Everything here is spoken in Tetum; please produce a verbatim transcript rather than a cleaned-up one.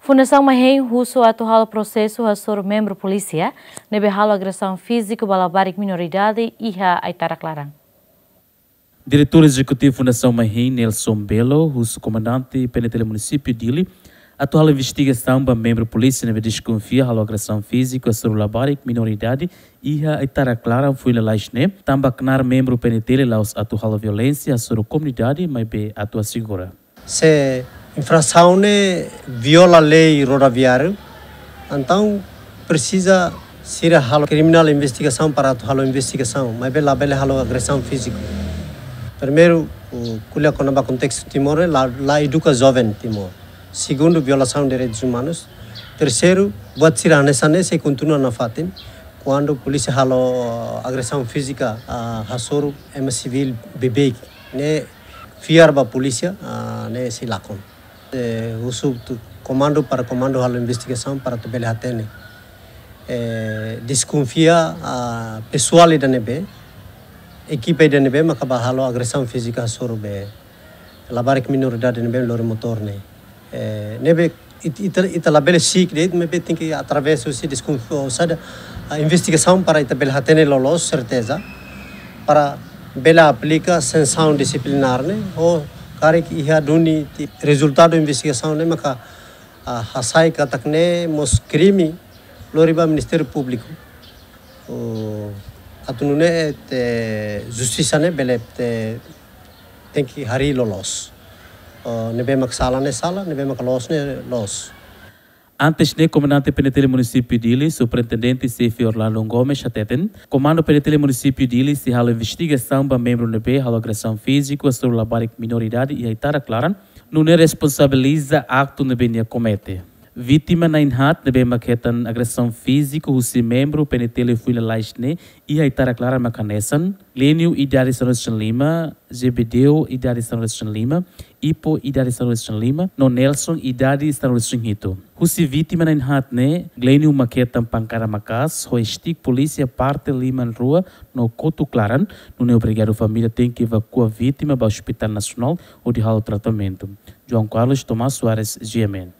Fundasaun Mahein husu atu halo prosesu hasoru membru polísia ne'ebé halo agresaun fíziku ba labarik minoridade iha Aitarak-Laran. Diretór Ezekutivu Fundasaun Mahein, Nelson Belo, husu komandante P N T L Munisípiu Dili atu halo investigasaun ba membru polísia ne'ebé deskonfia halo agresaun fíziku hasoru labarik minoridade iha Aitarak-Laran foin lalais ne'e, tanba knaar membru P N T L la'ós atu halo violénsia hasoru komunidade, maibé atu asegura. Se infrasaun ne'e viola lei rodoviáriu, entaun presiza sira halo kriminál investigasaun para atu halo investigasaun, maibé labele halo agresaun fíziku. Primeiru, ko'alia kona-ba kontestu Timor, la, la eduka joven Timor. Segundu, violasaun direitus umanus. Terseiru, buat sira hanesan ne'e sei kontinua nafatin, kuandu polísia halo agresaun fízika, ah, hasoru ema sivíl beibeik. Ne'e fiar ba polísia, ah, ne'e sei lakon. Eh, husu tu komandu para komandu halo investigasaun para atu bele hatene. Eh, deskonfia, ah, pesoál ida ne'ebé, ekipa ida ne'ebé maka bá halo agresaun fízika hasoru be labarik minoridade ne'ebé lori motór ne'e. Eh, ne'ebé it-, ita, ita labele siik de'it, maibé tenke através husi deskonfia, ou seja, ah, investigasaun para ita bele hatene loloos serteza, para bele aplika sansaun disiplinár ne'e, ou karik iha duni ti-, rezultadu investigasaun ne'e maka, ah, hasai katak ne'e mós krime lori ba Ministériu Públiku. Ou atu nune'e justisa ne'e bele te tenke harii loloos. Oh, ne'ebé mak sala ne'e sala, ne'ebé mak loos ne'e loos. Antes ne'e, komandante P N T L Munisípiu Dili, Superintendente Xefe Orlando Gomes, hateten, Komandu P N T L Munisípiu Dili sei halo investigasaun ba membru ne'ebé halo agresaun fíziku hasoru labarik minoridade iha Aitarak-Laran, nune'e responsabiliza aktu ne'ebé nia komete. Vítima na'in-haat ne'ebé mak hetan agresaun fíziku husi membru P N T L foin lalais ne'e iha Aitarak-Laran mak hanesan: Glenio, idade sanulu-resin-lima, Zebedeu, idade sanulu-resin-lima, Ipo, idade sanulu-resin-lima, no Nelson, idade sanulu-resin-hitu. Husi vítima na'in-haat ne'e, Glenio mak hetan pankada maka'as ho stick polísia parte liman rua no kotuk laran, nune'e obrigadu família tenke evakua vítima ba Hospital Nasionál hodi halo tratamentu. João Carlos Tomás Soares, G M N.